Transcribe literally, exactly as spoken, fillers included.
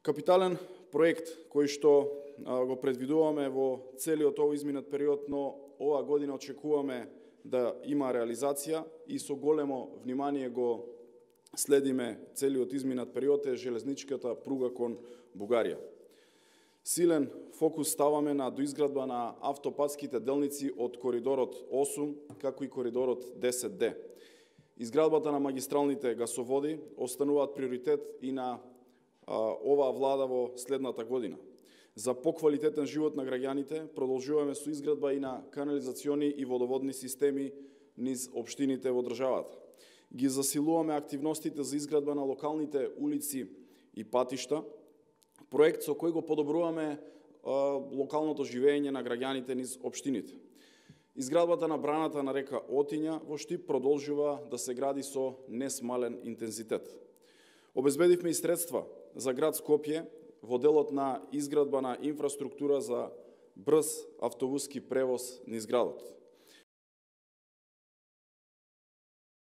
Капитален проект кој што го предвидуваме во целиот овој изминат период, но оваа година очекуваме да има реализација и со големо внимание го следиме целиот изминат период е железничката пруга кон Бугарија. Силен фокус ставаме на доизградба на автопатските делници од коридорот осум, како и коридорот десет Д. Изградбата на магистралните гасоводи остануваат приоритет и на а, оваа влада во следната година. За поквалитетен живот на граѓаните продолжуваме со изградба и на канализациони и водоводни системи низ општините во државата. Ги засилуваме активностите за изградба на локалните улици и патишта, проект со кој го подобруваме а, локалното живење на граѓаните низ општините. Изградбата на браната на река Отиња во Штип продолжува да се гради со несмален интензитет. Обезбедивме и средства за град Скопје во делот на изградба на инфраструктура за брз автобуски превоз низ градот.